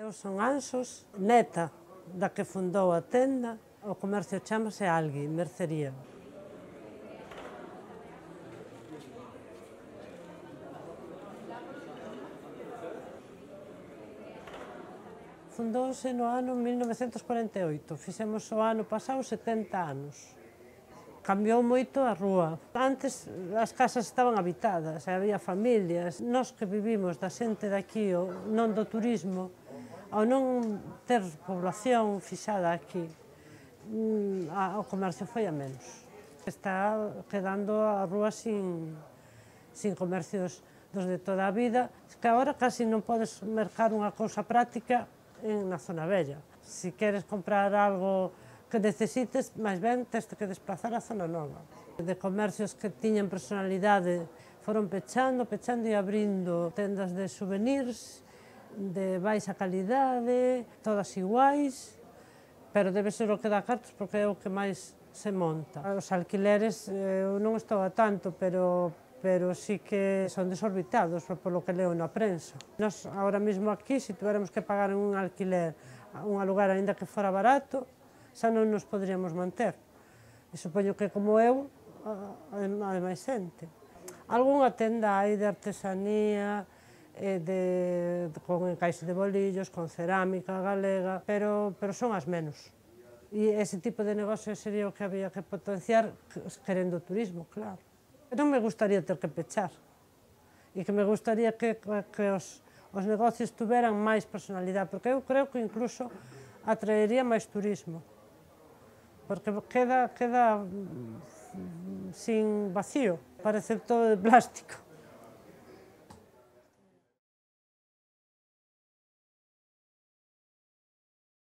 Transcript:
Eu son Anxos, neta da que fundou a tenda. O comercio chámase Algui, mercería. Fundouse no ano 1948, fixemos o ano pasado 70 anos. Cambiou moito a rúa. Antes as casas estaban habitadas, había familias. Nós que vivimos da xente daqui, non do turismo, ao non ter población fixada aquí, o comercio foi a menos. Está quedando a rúa sin comercios dos de toda a vida, que agora casi non podes mercar unha cousa práctica na zona vella. Se queres comprar algo que necesites, máis ben tens que desplazar a zona nova. De comercios que tiñan personalidade foron pechando e abrindo tendas de souvenirs de baixa calidade, todas iguais, pero debe ser o que dá cartos porque é o que máis se monta. Os alquileres eu non estou a tanto, pero sí que son desorbitados polo que leo na prensa. Nós, agora mesmo aquí, se tuviéramos que pagar un alquiler a un lugar aínda que fora barato, xa non nos poderíamos manter. E supoño que, como eu, hai máis xente. Algúnha tenda hai de artesanía, con encaixe de bolillos, con cerámica galega, pero son as menos. E ese tipo de negocio sería o que había que potenciar, querendo o turismo, claro. Non me gustaría ter que pechar, e que me gustaría que os negocios tuveran máis personalidade, porque eu creo que incluso atraería máis turismo, porque queda sin vacío, parece todo de plástico.